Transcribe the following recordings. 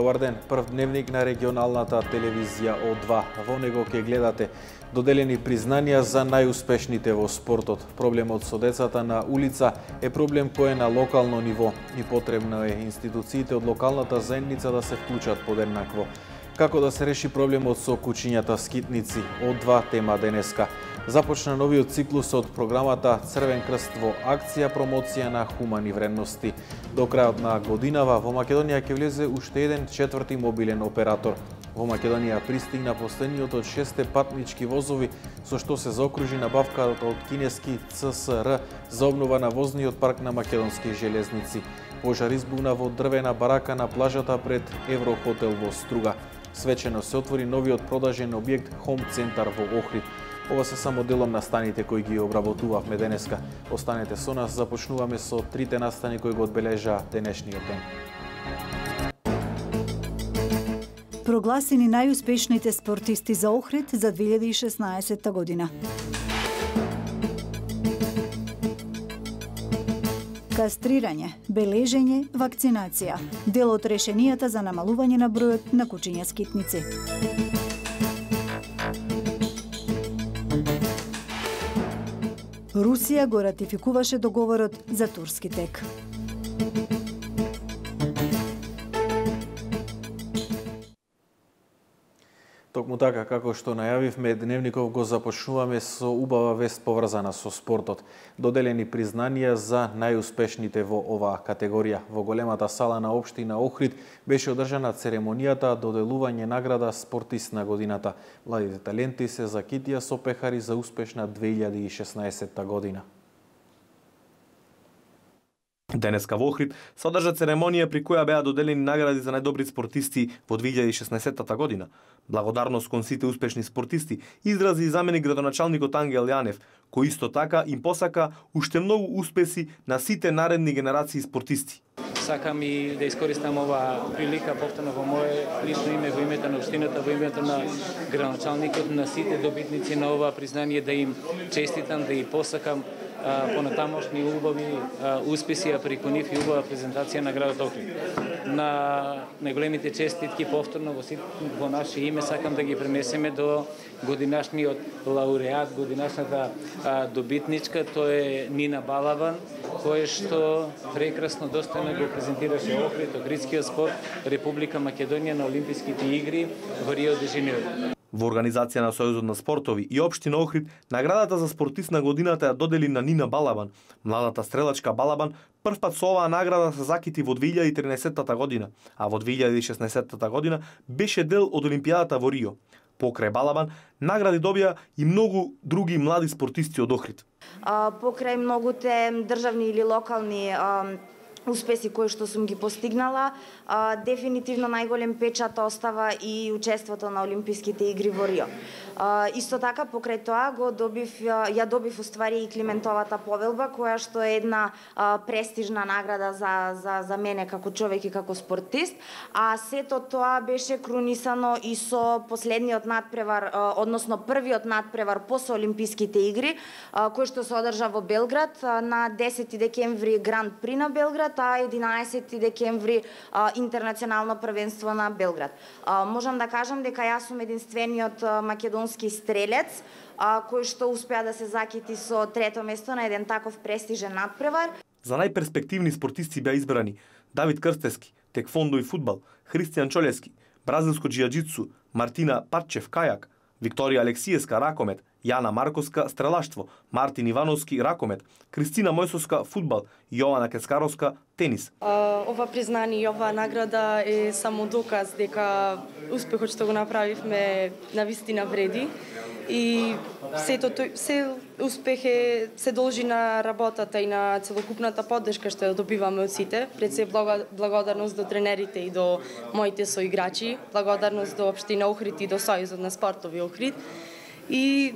Добар ден, прв дневник на регионалната телевизија О2. Во него ќе гледате доделени признанија за најуспешните во спортот. Проблемот со децата на улица е проблем кој е на локално ниво и потребно е институциите од локалната заедница да се вклучат подеднакво. Како да се реши проблемот со кучињата скитници? О2 тема денеска. Започна новиот циклус од програмата Црвен крст во акција промоција на хумани вредности. До крајот на годинава во Македонија ќе влезе уште еден четврти мобилен оператор. Во Македонија пристигна последниот од 6 патнички возови, со што се заокружи набавката од кинески ЦСР за обнова на возниот парк на македонски железници. Пожар избугна во дрвена барака на плажата пред Еврохотел во Струга. Свечено се отвори новиот продажен објект Home Центар во Охрид. Ова се само делом на станите кои ги обработувавме денеска. Останете со нас, започнуваме со трите настани кои го одбележаа денешниот ден. Прогласени најуспешните спортисти за Охрид за 2016 година. Кастрирање, бележење, вакцинација. Дел од решенијата за намалување на бројот на кучиња скитници. Русија го ратификуваше договорот за турски тек. Токму така, како што најавивме, дневников го започнуваме со убава вест поврзана со спортот. Доделени признанија за најуспешните во оваа категорија. Во големата сала на општина Охрид беше одржана церемонијата доделување награда спортист на годината. Младите таленти се закитија со пехари за успешна 2016 година. Денеска во Охрид се одржа церемонија при која беа доделени награди за најдобри спортисти во 2016 година. Благодарност кон сите успешни спортисти изрази и заменик градоначалникот Ангел Јанев, кој исто така им посака уште многу успеси на сите наредни генерации спортисти. Сакам и да искористам ова прилика повторно во мое лично име, во името на општината, во името на градоначалникот, на сите добитници на ова признание, да им честитам, да и посакам понатамошни убави успеси, а преку нив и убава презентација на градот Охрид. На најголемите честитки повторно во наше име сакам да ги пренесеме до годинашниот лауреат, годинашната добитничка, тоа е Нина Балабан, која што прекрасно достојно го презентираше Охрид, охридскиот спорт, Република Македонија на Олимписките игри во Рио де Жанеиро. Во организација на Сојузот на спортови и општина Охрид, наградата за спортист на годината ја додели на Нина Балабан. Младата стрелачка Балабан првпат со оваа награда се закити во 2013 година, а во 2016 година беше дел од Олимпијадата во Рио. Покрај Балабан, награди добија и многу други млади спортисти од Охрид. Покрај многуте државни или локални успеси кои што сум ги постигнала, дефинитивно најголем печат остава и учеството на Олимписките игри во Рио. Исто така, покрај тоа ја добив уствари и Климентовата повелба, која што е една престижна награда за мене како човек и како спортист, а сето тоа беше крунисано и со последниот надпревар, односно првиот надпревар после Олимписките игри, кој што се одржа во Белград на 10 декември Гранд При на Белград, а 11 декември интернационално првенство на Белград. Можам да кажам дека јас сум единствениот македонски стрелец кој што успеа да се закити со трето место на еден таков престижен надпревар. За најперспективни спортисти беа избрани Давид Крстески, текфондо и фудбал, Христијан Чолески, бразилско џијаџитсу, Мартина Парчев кајак, Викторија Алексиевска ракомет, Јана Марковска стрелаштво, Мартин Ивановски ракомет, Кристина Мојсовска фудбал и Јована Кескаровска тенис. Ова признание и оваа награда е само доказ дека успехот што го направивме навистина вреди и се успех се должи на работата и на целокупната поддршка што ја добиваме од сите. Пред се благодарност до тренерите и до моите соиграчи, благодарност до општина Охрид и до Сојузот на спортови Охрид. И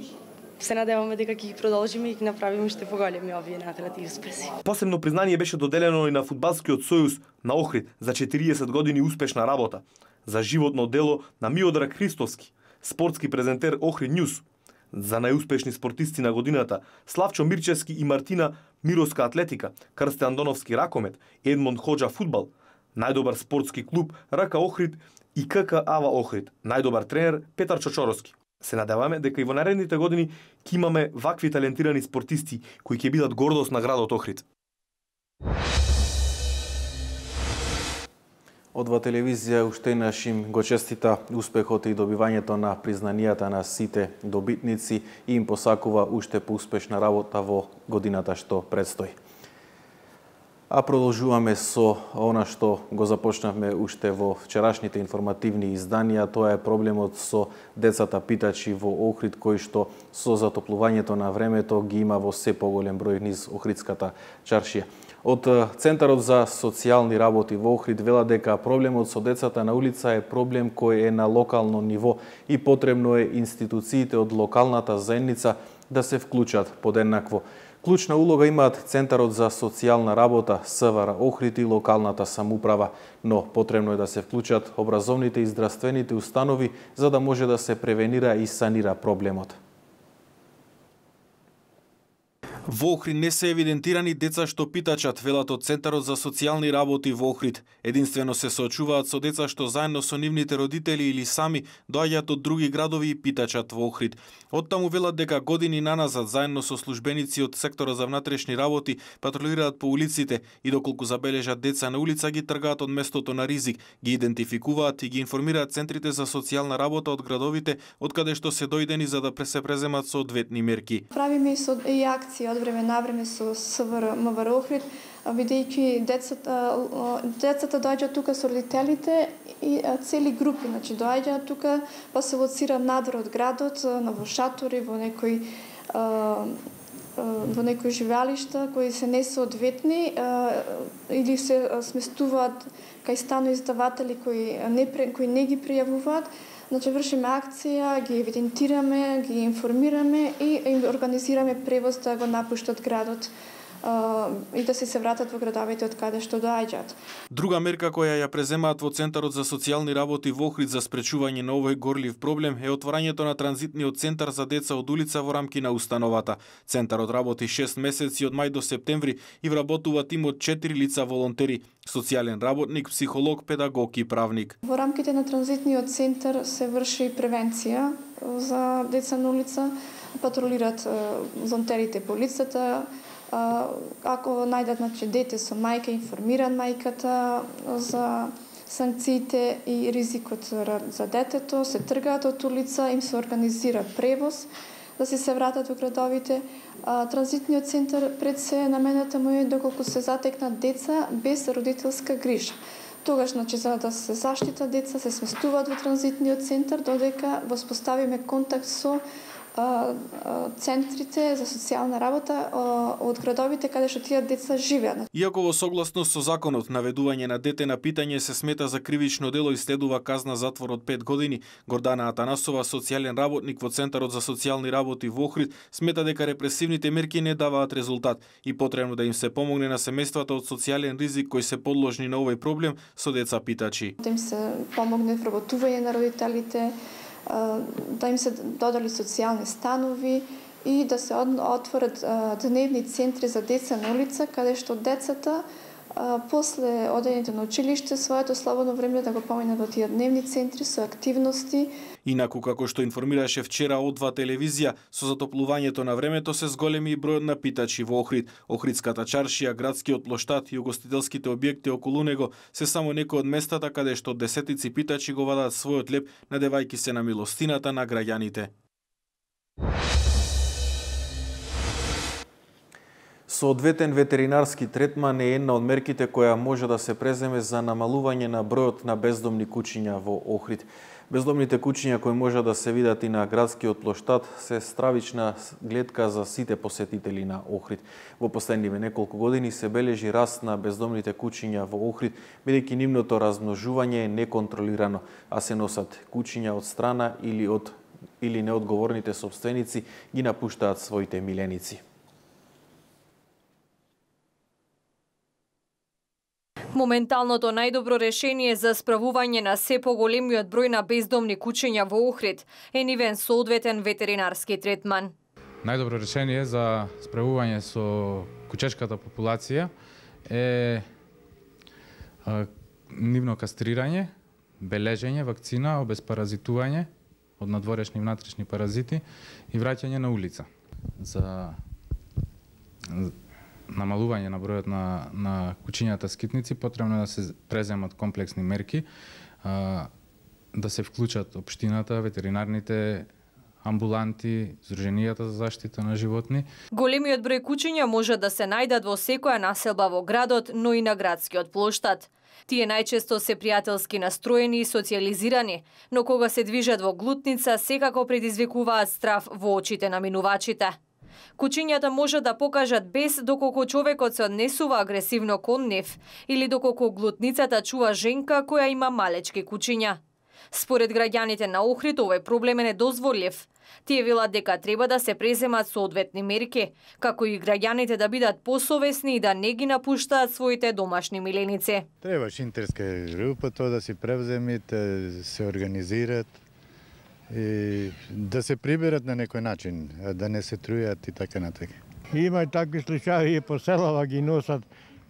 се надеваме дека ќе ги продолжиме и ќе направиме уште поголеми овие награди и успеси. Посебно признание беше доделено и на фудбалскиот сојуз на Охрид за 40 години успешна работа, за животно дело на Миодраг Христовски, спортски презентер Охрид Нјуз, за најуспешни спортисти на годината Славчо Мирчевски и Мартина Мировска атлетика, Крстен Доновски ракомет, Едмонд Ходжа фудбал, најдобар спортски клуб РК Охрид и КК Ава Охрид, најдобар тренер Петар Чочоровски. Се надеваме дека и во наредните години ќе имаме вакви талентирани спортисти кои ќе бидат гордост на градот Охрид. Одва телевизија уште нашим го честита успехот и добивањето на признанијата на сите добитници и им посакува уште поуспешна работа во годината што предстои. А продолжуваме со она што го започнавме уште во вчерашните информативни изданија, тоа е проблемот со децата питачи во Охрид, кои што со затоплувањето на времето ги има во се поголем број низ Охридската чаршија. Од Центарот за социјални работи во Охрид велат дека проблемот со децата на улица е проблем кој е на локално ниво и потребно е институциите од локалната заедница да се вклучат подеднакво. Клучна улога имаат Центарот за социјална работа, СВР Охрид и локалната самоуправа, но потребно е да се вклучат образовните и здравствените установи за да може да се превенира и санира проблемот. Во Охрид не се евидентирани деца што питачат, велат од Центарот за социјални работи во Охрид. Единствено се соочуваат со деца што заедно со нивните родители или сами доаѓаат од други градови и питачат во Охрид. Оттаму велат дека години наназад заедно со службеници од секторот за внатрешни работи патрулираат по улиците и доколку забележат деца на улица ги тргаат од местото на ризик, ги идентификуваат и ги информираат центрите за социјална работа од градовите од каде што се дојдени за да се преземат соодветни мерки. Правиме и акции од време на време со СВР МВР Охрид, бидејќи децата доаѓаат тука со родителите и цели групи, значи доаѓаат тука па се лоцира надвор од градот, во шатори, во некои живеалишта кои се несоодветни или се сместуваат кај станоиздаватели кои не ги пријавуваат. Значи вршиме акција, ги евидентираме, ги информираме и им организираме превоз да го напуштат градот и да се вратат во градовите од каде што доаѓаат. Друга мерка која ја преземаат во Центарот за социјални работи во Охрид за спречување на овој горлив проблем е отворањето на транзитниот центар за деца од улица во рамки на установата. Центарот работи 6 месеци од мај до септември и вработува тим од 4 лица волонтери: социјален работник, психолог, педагог и правник. Во рамките на транзитниот центар се врши превенција за деца на улица, патрулират волонтерите по улицата. Ако најдат дете со мајка, информираат мајката за санкциите и ризикот за детето, се тргаат од улица, им се организира превоз да се вратат во градовите. Транзитниот центар пред се намената му е доколку се затекнат деца без родителска грижа. Тогаш, за да се заштита деца, се сместуваат во транзитниот центар додека воспоставиме контакт со центрите за социјална работа од градовите каде што тие деца живеат. Иако во согласност со законот наведување на дете на питање се смета за кривично дело и следува казна затвор од 5 години, Гордана Атанасова, социјален работник во Центарот за социјални работи во Охрид, смета дека репресивните мерки не даваат резултат и потребно да им се помогне на семејствата од социјален ризик кои се подложни на овој проблем со деца питачи. Да им се помогне вработување на родителите, да им се додели социјални станови и да се отворат дневни центри за деца на улица, каде што децата после одењето на училиште своето слободно време да го поминат во тие дневни центри со активности. Инаку, како што информираше вчера Одва телевизија, со затоплувањето на времето се зголеми и бројот на питачи во Охрид. Охридската чаршија, градскиот плоштад и угостителските објекти околу него се само некои од местата каде што десетици питачи го вадат својот леп, надевајќи се на милостината на граѓаните. Соодветен ветеринарски третман е една од мерките која може да се преземе за намалување на бројот на бездомни куќиња во Охрид. Бездомните куќиња кои може да се видат и на градскиот плоштад се стравична гледка за сите посетители на Охрид. Во последниве неколку години се бележи раст на бездомните куќиња во Охрид, бидејќи нивното размножување е неконтролирано, а се носат куќиња од страна или неодговорните сопственици ги напуштаат своите миленици. Моменталното најдобро решение за справување на се поголемиот број на бездомни куќиња во Охрид е нивен соодветен ветеринарски третман. Најдобро решение за справување со кучешката популација е нивно кастрирање, бележење, вакцина, обезпаразитување од надворешни и внатрешни паразити и враќање на улица. За намалување на бројот на кучињата скитници потребно е да се преземат комплексни мерки, да се вклучат општината, ветеринарните амбуланти, Здруженијата за заштита на животни. Големиот број кучиња може да се најдат во секоја населба во градот, но и на градскиот плоштад. Тие најчесто се пријателски настроени и социјализирани, но кога се движат во глутница, секако предизвикуваат страв во очите на минувачите. Кучињата може да покажат бес доколку човекот се однесува агресивно кон нив или доколку глутницата чува женка која има малечки кучиња. Според граѓаните на Охрид, овој проблем е недозволив. Тие велат дека треба да се преземат соодветни мерки, како и граѓаните да бидат посовесни и да не ги напуштаат своите домашни миленици. Треба шинтерска група тоа да си превземите, се организират и да се приберат на некој начин, да не се трујат и така натака. Има и такви случаи и по селава ги носат,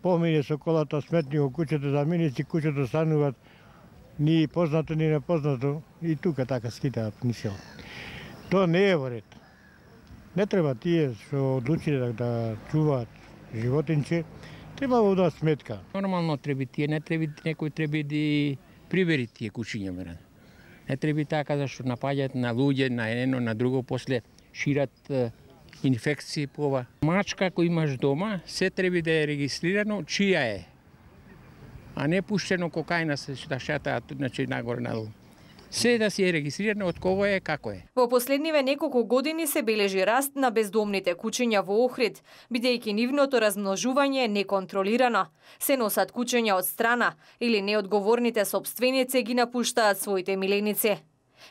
помине со колата сметни во куќето, да миници куќето стануваат ни познато, ни непознато, и тука така скитаат ни село. Тоа не е во ред. Не треба тие што одлучиле да чуваат животинче, треба во да сметка. Нормално треба тие, не треба некој треба да прибери тие кучиња, мерен. Не треба така зашто напаѓаат на луѓе, на едно, на друго, после шират инфекции по ова. Мачка кој имаш дома, се треба да е регистрирано чија е, а не пуштено кокајна се да шатаат, значи нагоре надолу. Се да си е регистрирано од кого е, како е. Во последниве неколку години се бележи раст на бездомните кучиња во Охрид, бидејќи нивното размножување е неконтролирано. Се носат кучиња од страна или неодговорните сопственици ги напуштаат своите миленици.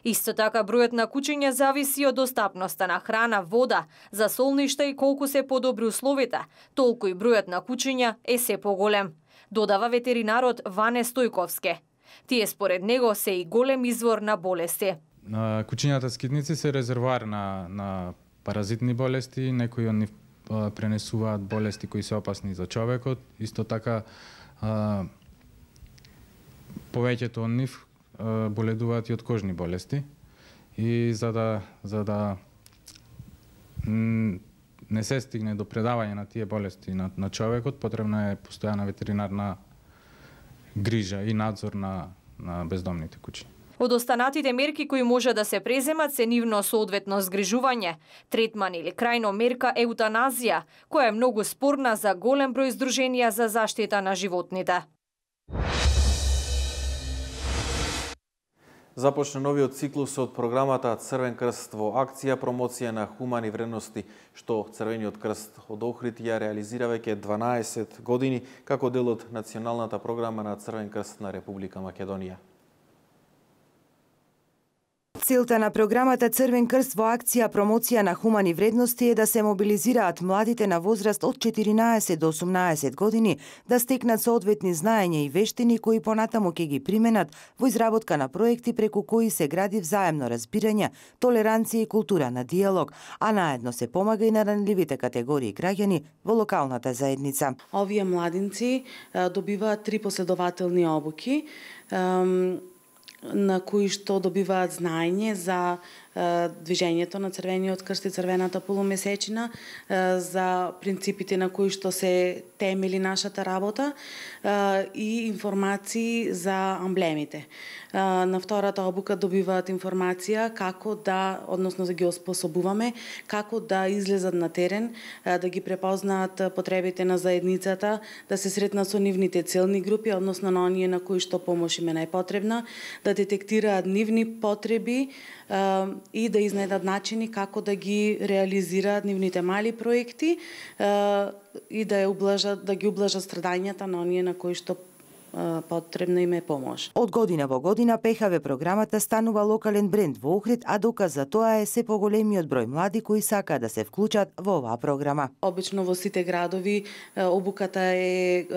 Исто така бројот на кучиња зависи од достапноста на храна, вода, за солништа и колку се подобри условите, толку и бројот на кучиња е се поголем, додава ветеринарот Ване Стојковски. Тие според него се и голем извор на болести. Кучињата скитници се резервоар на паразитни болести, некои од нив пренесуваат болести кои се опасни за човекот, исто така повеќето од нив боледуваат и од кожни болести. И за да не се стигне до предавање на тие болести на човекот, потребна е постојана ветеринарна грижа и надзор на бездомните кучи. Од останатите мерки кои може да се преземат се нивно соодветно згрижување, третман или крајно мерка еутаназија, која е многу спорна за голем број здруженија за заштита на животните. Започна новиот циклус од програмата Црвен крст во акција промоција на хумани вредности, што Црвениот крст од Охрид ја реализира веќе 12 години како дел од националната програма на Црвен крст на Република Македонија. Целта на програмата Црвен крст во акција промоција на хумани вредности е да се мобилизираат младите на возраст од 14 до 18 години да стекнат соодветни знаења и вештини кои понатаму ќе ги применат во изработка на проекти преку кои се гради взаемно разбирање, толеранција и култура на диалог, а наедно се помага и на ранливите категории граѓани во локалната заедница. Овие младинци добиваат 3 последователни обуки на кои што добиваат знаење за движењето на Црвениот крст и Црвената полумесечина, за принципите на кои што се темели нашата работа и информации за амблемите. На втората обука добиваат информација како да, односно да ги оспособуваме, како да излезат на терен, да ги препознаат потребите на заедницата, да се сретнат со нивните целни групи, односно на оние на кои што помош им е најпотребна, да детектираат нивни потреби и да изнајдат начини како да ги реализираат нивните мали проекти и да ги ублажат страдањата на оние на кои што потребна им е помош. Од година во година ПХВ програмата станува локален бренд во Охрид, а доказ за тоа е се поголемиот број млади кои сакаат да се вклучат во оваа програма. Обично во сите градови обуката е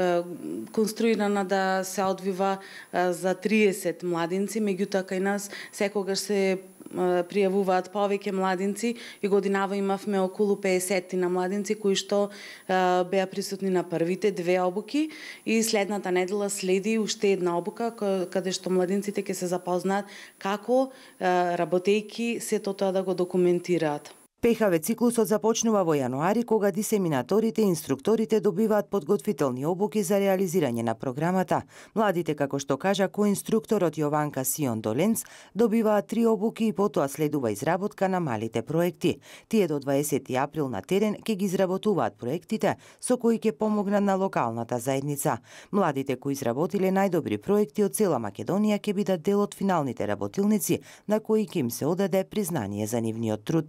конструирана да се одвива за 30 младинци, меѓутоа кај нас секогаш се пријавуваат повеќе младинци и годинава имавме околу 50 на младинци кои што беа присутни на првите две обуки и следната недела следи уште една обука каде што младинците ќе се запознаат како работејки сето тоа да го документираат. ПХВ циклусот започнува во јануари, кога дисеминаторите и инструкторите добиваат подготвителни обуки за реализирање на програмата. Младите, како што кажа коинструкторот Јованка Сион Доленц, добиваат 3 обуки и потоа следува изработка на малите проекти. Тие до 20 април на терен ќе ги изработуваат проектите со кои ќе помогнат на локалната заедница. Младите кои изработиле најдобри проекти од цела Македонија ќе бидат дел од финалните работилници на кои ќе им се одаде признание за нивниот труд.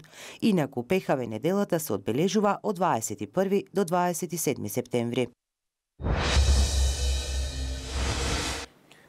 Инаку ПХВ неделата се одбележува од 21 до 27 септември.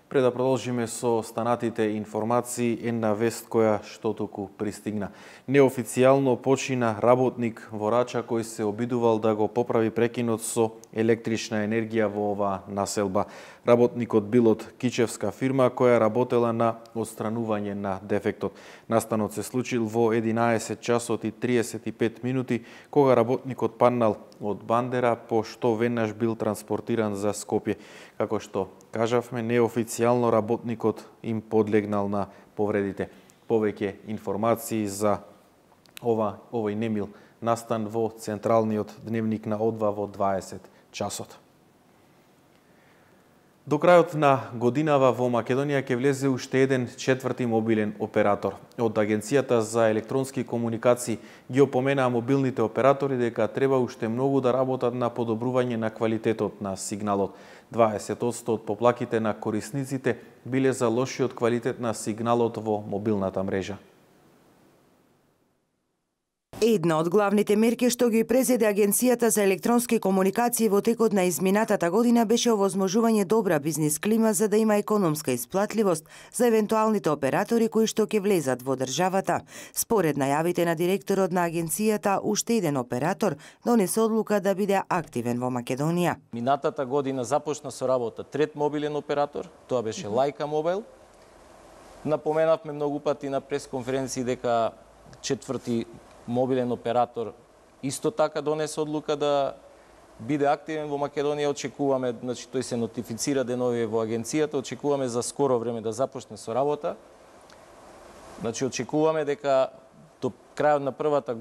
Пред да продолжиме со останатите информации, една вест која што току пристигна. Неофицијално почина работник во Рача кој се обидувал да го поправи прекинот со електрична енергија во оваа населба. Работникот бил од кичевска фирма која работела на отстранување на дефектот. Настанот се случил во 11 часот и 35 минути, кога работникот паднал од бандера, по што веднаш бил транспортиран за Скопје. Како што кажавме, неофицијално работникот им подлегнал на повредите. Повеќе информации за овој немил настан во централниот дневник на О2 во 20 часот. До крајот на годинава во Македонија ќе влезе уште еден четврти мобилен оператор. Од Агенцијата за електронски комуникации ги опоменаа мобилните оператори дека треба уште многу да работат на подобрување на квалитетот на сигналот. 20% од поплаките на корисниците биле за лошиот квалитет на сигналот во мобилната мрежа. Една од главните мерки што ги презеде Агенцијата за електронски комуникации во текот на изминатата година беше овозможување добра бизнис клима за да има економска исплатливост за евентуалните оператори кои што ќе влезат во државата. Според најавите на директорот на агенцијата, уште еден оператор донесе одлука да биде активен во Македонија. Минатата година започна со работа трет мобилен оператор, тоа беше Лајка Мобайл. Напоменавме многу пати на пресконференции дека четврти мобилен оператор исто така донесе одлука да биде активен во Македонија. Очекуваме, значи тој се нотифицира деновиве во агенцијата, очекуваме за скоро време да започне со работа. Значи очекуваме дека до крајот на првата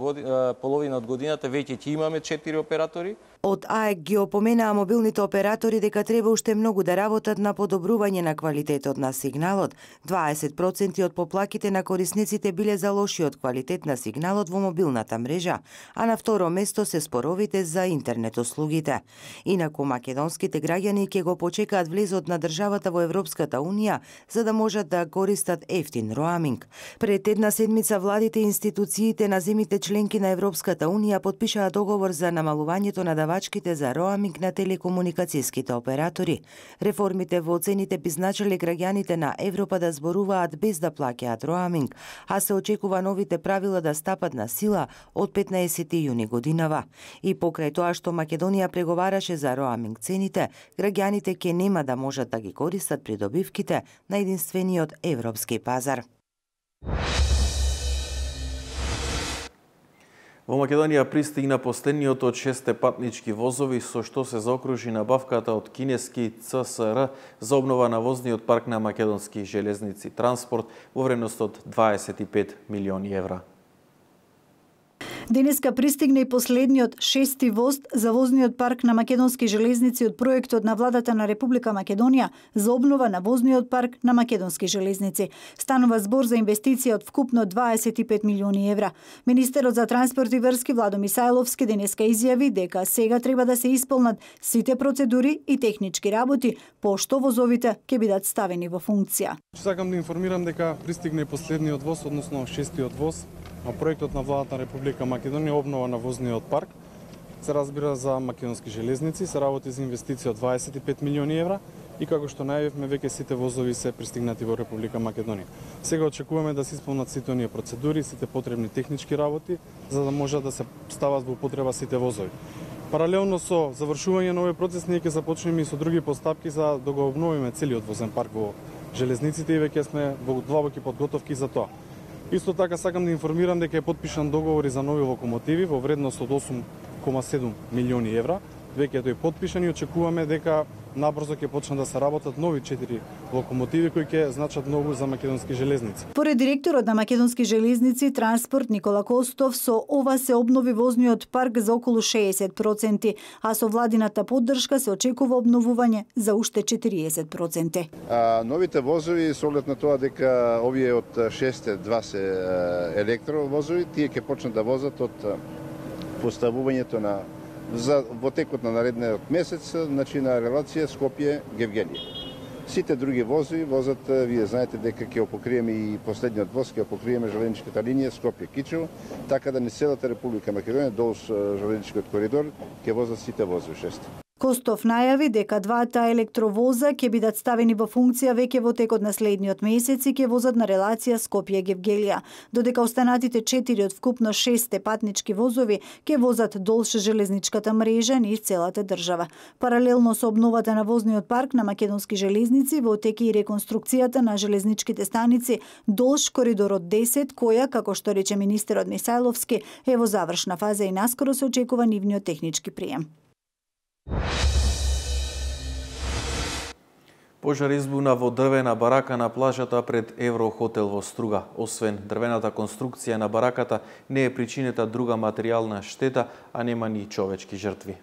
половина од годината веќе ќе имаме 4 оператори. Од АЕК ги опоменаа мобилните оператори дека треба уште многу да работат на подобрување на квалитетот на сигналот. 20% од поплаките на корисниците биле за лошиот квалитет на сигналот во мобилната мрежа, а на второ место се споровите за интернет услугите. Инаку македонските граѓани ќе го почекаат влезот на државата во Европската Унија за да можат да користат ефтин роаминг. Пред една седмица владите и институциите на земјите членки на Европската Унија потпишаа договор за намалувањето на давачките за роаминг на телекомуникацијските оператори. Реформите во цените би значиле граѓаните на Европа да зборуваат без да плаќаат роаминг, а се очекува новите правила да стапат на сила од 15 јуни годинава. И покрај тоа што Македонија преговараше за роаминг цените, граѓаните ќе нема да можат да ги користат придобивките на единствениот европски пазар. Во Македонија пристигна последниот од 6 патнички возови со што се заокружи набавката од кинески ЦСР за обнова на возниот парк на Македонски железници транспорт во вредност од 25 милиони евра. Денеска пристигна и последниот 6-ти воз за возниот парк на Македонски железници од проектот на владата на Република Македонија за обнова на возниот парк на Македонски железници. Станува збор за инвестиција од вкупно 25 милиони евра. Министерот за транспорт и врски Владо Мисајловски денеска изјави дека сега треба да се исполнат сите процедури и технички работи, пошто возовите ќе бидат ставени во функција. Сакам да информирам дека пристигна и последниот воз, односно 6-тиот воз на проектот на владата на Република Македонија обнова на возниот парк. Се разбира за Македонски железници, се работи за инвестиција од 25 милиони евра и како што најавивме веќе сите возови се пристигнати во Република Македонија. Сега очекуваме да се исполнат сите оние процедури, сите потребни технички работи за да може да се стават во употреба сите возови. Паралелно со завршување на овој процес ние ќе започнеме и со други постапки за да го обновиме целиот возен парк во железниците и веќе сме во длабоки подготовки за тоа. Исто така сакам да информирам дека е потпишан договори за нови локомотиви во вредност од 8,7 милиони евра. Веќе е тој потпишан и очекуваме дека набрзо ќе почнат да се работат нови 4 локомотиви кои ќе значат многу за македонски железници. Поред директорот на Македонски железници Транспорт Никола Костов, со ова се обнови возниот парк за околу 60%, а со владината поддршка се очекува обновување за уште 40%. Новите возови со оглед на тоа дека овие од 6 се електровозови, тие ќе почнат да возат од поставувањето во текот на наредниот месец, значи на релација Скопје-Гевгенија. Сите други возови возат, вие знаете дека ќе покриеме и последниот воз, ќе покриеме железничката линија Скопје-Кичево, така да не целата Република Македонија долж железничкиот коридор ќе возат сите возови 6. Костов најави дека двата електровоза ќе бидат ставени во функција веќе во текот на следниот месец и ќе возат на релација Скопје-Гевгелија, додека останатите 4 од вкупно 6 патнички возови ќе возат долж железничката мрежа низ целата држава. Паралелно со обновата на возниот парк на Македонски железници, во тек и реконструкцијата на железничките станици долж коридорот 10, која, како што рече министерот Мисајловски, е во завршна фаза и наскоро се очекува нивниот технички прием. Пожар избуна во дрвена барака на плажата пред Еврохотел во Струга. Освен дрвената конструкција на бараката, не е причинета друга материјална штета, а нема ни човечки жртви.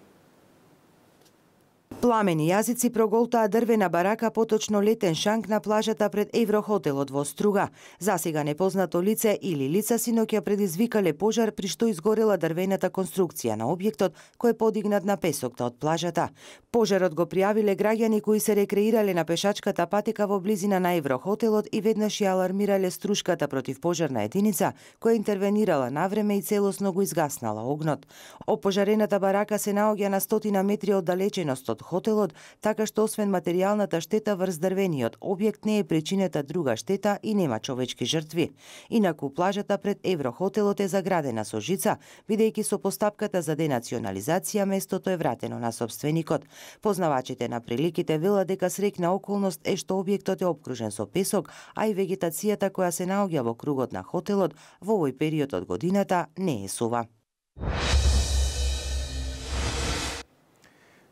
Пламени јазици проголтаа дрвена барака, поточно летен шанк на плажата пред Еврохотелот во Струга. Засега непознато лице или лица синоќа предизвикале пожар при што изгорела дрвената конструкција на објектот кој е подигнат на песокта од плажата. Пожарот го пријавиле граѓани кои се рекреирале на пешачката патека во близина на Еврохотелот и веднаш ја алармирале струшката противпожарна единица која интервенирала навреме и целосно го изгаснала огнот. Опожарената барака се наоѓа на 100 метри оддалеченост од хотелот, така што освен материјалната штета врз дрвениот објект не е причинета друга штета и нема човечки жртви. Инаку плажата пред Еврохотелот е заградена со жица, бидејќи со постапката за денационализација местото е вратено на сопственикот. Познавачите на приликите велат дека среќна околност е што објектот е опкружен со песок, а и вегетацијата која се наоѓа во кругот на хотелот во овој период од годината не е сува.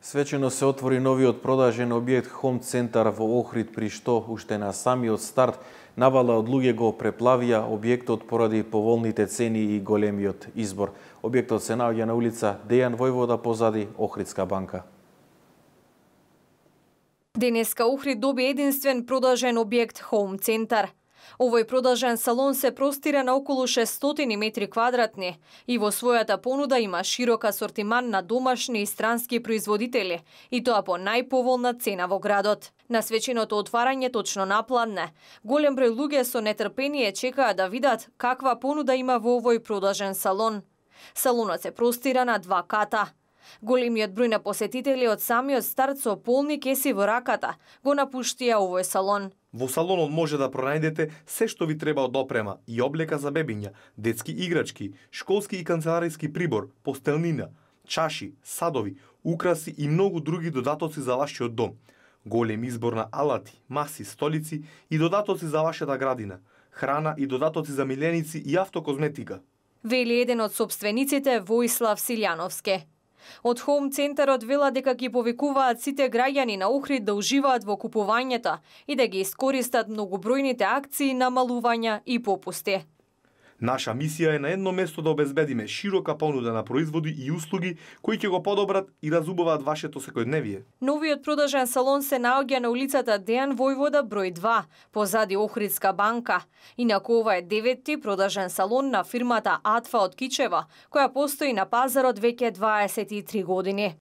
Свечено се отвори новиот продажен објект Home Center во Охрид, при што уште на самиот старт навала од луѓе го преплавија објектот поради поволните цени и големиот избор. Објектот се наоѓа на улица Дејан Војвода позади Охридска банка. Денеска Охрид доби единствен продажен објект Home Center. Овој продажен салон се простира на околу 600 метри квадратни и во својата понуда има широк асортиман на домашни и странски производители, и тоа по најповолна цена во градот. На свеченото отварање точно напладне, голем број луѓе со нетрпение чекаа да видат каква понуда има во овој продажен салон. Салонот се простира на 2 ката. Големиот број на посетители од самиот старт со полни кеси во раката го напуштија овој салон. Во салонот може да пронајдете се што ви треба од опрема и облека за бебиња, детски играчки, школски и канцелариски прибор, постелнина, чаши, садови, украси и многу други додатоци за вашиот дом. Голем избор на алати, маси, столици и додатоци за вашата градина, храна и додатоци за миленици и автокозметика. Вели еден од собствениците Воислав Силјановски. Од Home Центарот вела дека ги повикуваат сите граѓани на Охрид да уживаат во купувањето и да ги искористат многобројните акции, намалувања и попусти. Наша мисија е на едно место да обезбедиме широка понуда на производи и услуги кои ќе го подобрат и разубаваат вашето секојдневие. Новиот продажен салон се наоѓа на улицата Дејан Војвода број 2, позади Охридска банка. Инаку ова е 9ти продажен салон на фирмата Атфа од Кичево, која постои на пазарот веќе 23 години.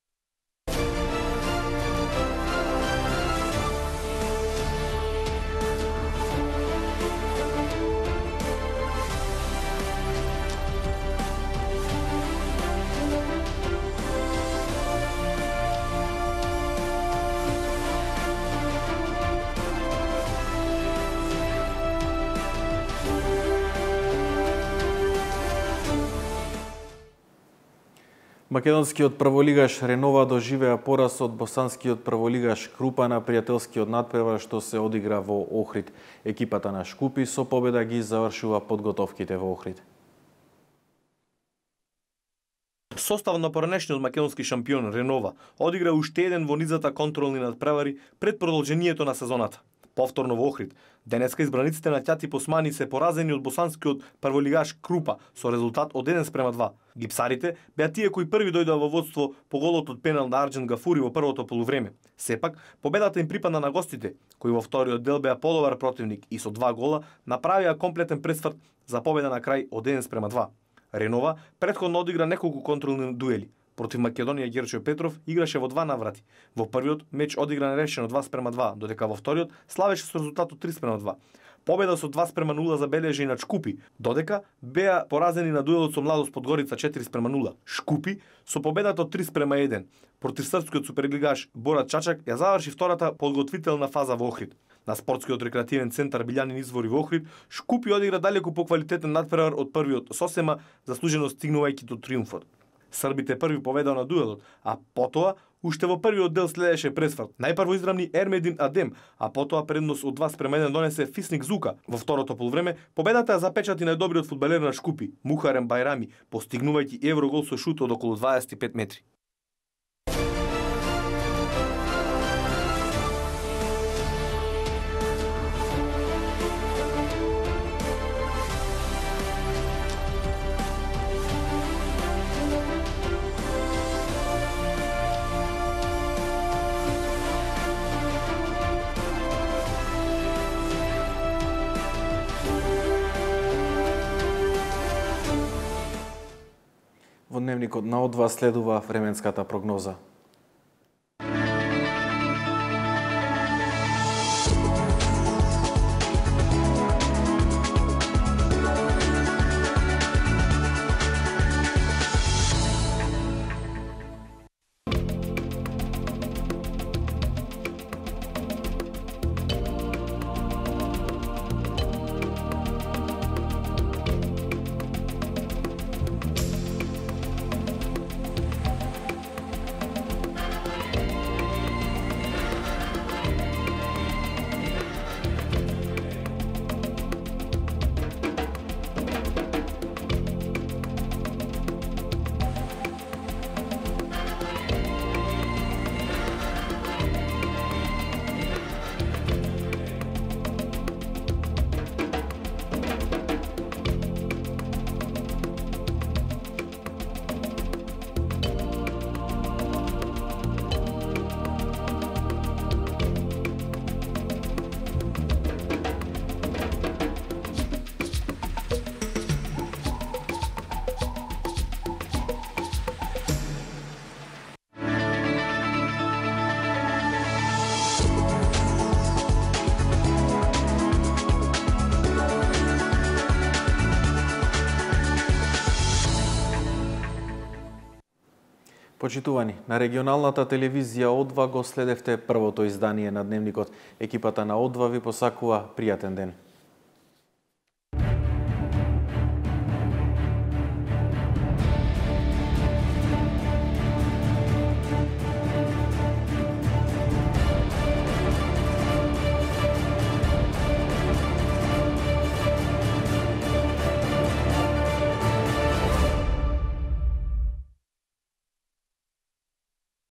Македонскиот прволигаш Ренова доживеа пораз од босанскиот прволигаш Крупа на пријателскиот надпревар што се одигра во Охрид. Екипата на Шкупи со победа ги завршува подготовките во Охрид. Состав на поранешниот македонски шампион Ренова одигра уште еден во низата контролни надпревари пред продолжението на сезоната. Повторно во Охрид, денеска избраниците на Ќати Посмани се поразени од босанскиот прволигаш Крупа со резултат од 1:2. Гипсарите беа тие кои први дојдоа во водство по голот од пенал на Арџен Гафури во првото полувреме. Сепак, победата им припадна на гостите, кои во вториот дел беа подобар противник и со 2 гола направија комплетен пресврт за победа на крај од 1:2. Ренова претходно одигра неколку контролни дуели. Против Македонија Герчо Петров играше во 2 наврати. Во првиот меч одигра нерешено 2:2, додека во вториот славеше со резултатот 3:2. Победа со 2:0 забележи и на Шкупи, додека беа поразени на дуелот со Младост Подгорица 4:0. Шкупи со победата од 3:1 против српскиот суперлигаш Борат Чачак ја заврши втората подготвителна фаза во Охрид. На спортскиот рекреативен центар Билјанин извори во Охрид, Шкупи одигра далеку поквалитетен надпревар од првиот со 8, заслужено стигнувајќи до триумфот. Србите први победаа на дуелот, а потоа уште во првиот дел следеше пресврт. Најпрво израмни Ермедин Адем, а потоа предност од 2:1 донесе Фисник Зука. Во второто полувреме победата ја запечати најдобриот фудбалер на Шкупи, Мухарем Байрами, постигнувајќи еврогол со шут од околу 25 метри. Во дневникот на О2 следува временската прогноза. Почитувани, на регионалната телевизија О2 го следевте првото издание на Дневникот. Екипата на О2 ви посакува пријатен ден.